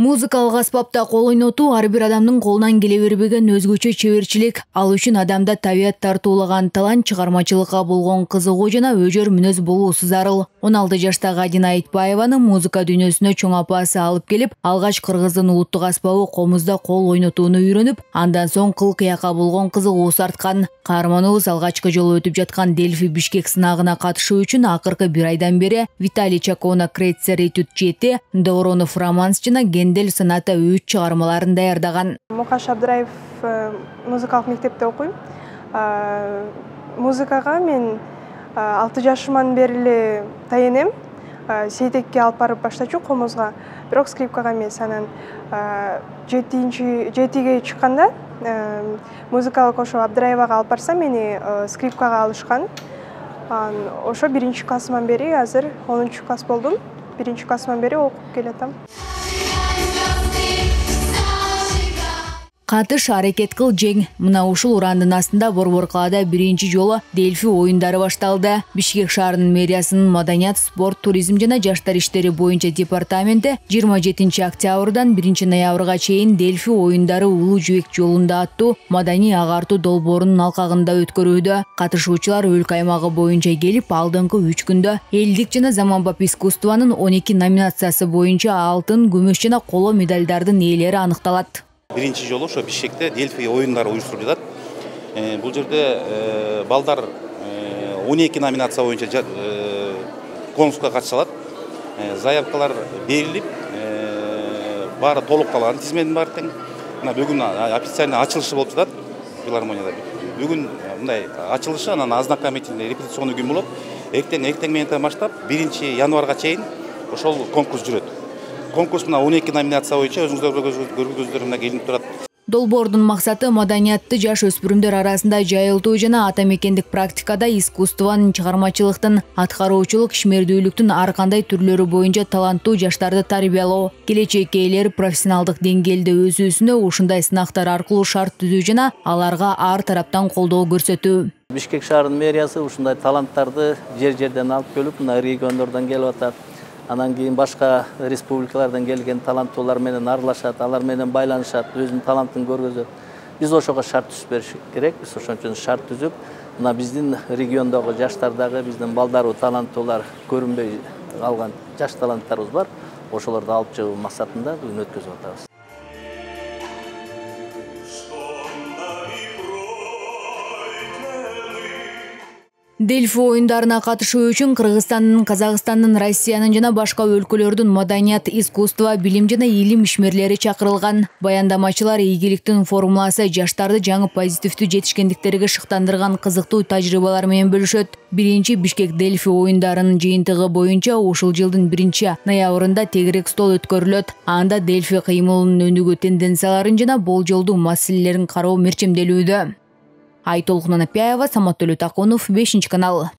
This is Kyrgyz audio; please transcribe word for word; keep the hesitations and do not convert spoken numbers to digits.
Музыкалык аспапта кол ойнотуу ар бир адамдын колунан келе бербеген өзгөчө чеберчилик. Ал үчүн адамда табият тартуулаган талант, чыгармачылыкка болгон кызыгуу жана өжөр мүнөз болуусу зарыл. он алты жаштагы Адина Айтбаеваны музыка дүйнөсүнө чоң апасы алып келип, алгач кыргыздын улуттук аспабы комузда кол ойнотууну үйрөнүп, андан соң кыл кыякка болгон кызыгуусу арткан. Каарманыбыз алгачкы жолу өтүп жаткан Дельфи Бишкек сынагына катышуу үчүн акыркы бир айдан бери Виталий Чакона Крейцер Этюд жети, Доронов Романс жана Гендель Соната үч чыгармаларын даярдаган. Мукаш Абдыраев музыкалык мектепте окуйм. Музыкага мен алты жашыман бери эле таянем. Сейтекке алып барып баштачу комузга, бирок скрипкага эмес. Анан жетинчи жетиге чыкканда музыкалык ошо Абдыраевага алып барсам, мени скрипкага алышкан. Ошо биринчи классыман бери, азыр онунчу класс болдум. Биринчи классыман бери окуп келатам. Катыш, аракет кыл, жең. Мына ушул урандын астында Борбор калаада биринчи жолу Дельфи оюндары башталды. Бишкек шаарынын мэриясынын Маданият, спорт, туризм жана жаштар иштери боюнча департаменти жыйырма жетинчи октябрдан биринчи ноябрга чейин Дельфи оюндары Улуу Жибек жолунда аттуу маданий агартуу долбоорунун алкагында өткөрүүдө. Катышуучулар өлкө аймагы боюнча келип, алдыңкы үч күндө элдик жана заманбап искусствонун он эки номинациясы боюнча алтын, күмүш жана коло медалдардын ээлери аныкталат. Биринчи жолу ошо Бишкекте Дельфи оюндары уюштурулуп жатат. Бул жерде балдар он эки номинация боюнча конкурска катыша алат. Заявкалар берилип, баары толукталган, тизмедин баары тең. Мына бүгүн официальный ачылышы болуп жатат филармонияда. Бүгүн мындай ачылышы, анан ознакомительный репетиционный күн болот. Эртең эртең менен баштап биринчи январга чейин ошол конкурс жүрөт. Конкурс мына он эки номинация боюнча өзүңүздөр көргөзүңүздөр мына келип турат. Долбоордун максаты маданиятты жаш өспүрүмдөр арасында жайылтуу жана ата мекендик практикада искусствонун, чыгармачылыктын, аткаруучулук, ишмердүүлүктүн ар кандай түрлөрү боюнча таланттуу жаштарды тарбиялоо, келечек ээлери профессионалдык деңгээлде өсүүсүнө ушундай сынактар аркылуу шарт түзүү жана аларга ар тараптан колдоо көрсөтүү. Бишкек шаарынын мэриясы ушундай таланттарды жер-жерден алып келип, мына региондордон келип атат. Анан кийин башка республикалардан келген таланттуулар менен аралашат, алар менен байланышат, өзүнүн талантын көргөзөт. Биз ошого шарт түзүп бериш керек. Биз ошон үчүн шарт түзүп, мына биздин региондогу жаштардагы биздин балдарыбыз, таланттуулар, көрүнбөй калган жаш таланттарыбыз бар. Ошолорду алып чыгуу максатында бүгүн өткөзүп атабыз. Дельфи оюндарына катышуу үчүн Кыргызстандын, Казакстандын, Россиянын жана башка өлкөлөрдүн маданият, искусство, билим жана илим ишмерлери чакырылган. Баяндамачылар ийгиликтин формуласы жаштарды жаңы позитивдүү жетишкендиктерге шыктандырган кызыктуу тажрыйбалар менен бөлүшөт. Биринчи Бишкек Дельфи оюндарынын жыйынтыгы боюнча ушул жылдын биринчи ноябрында тегерек стол өткөрүлөт. Анда Дельфи кыймылынын өнүгүү тенденцияларын жана болжолдуу маселелерин кароо мерчемделүүдө. Айтолкун Анапяева, Самат Төлөтакунов, бешинчи канал.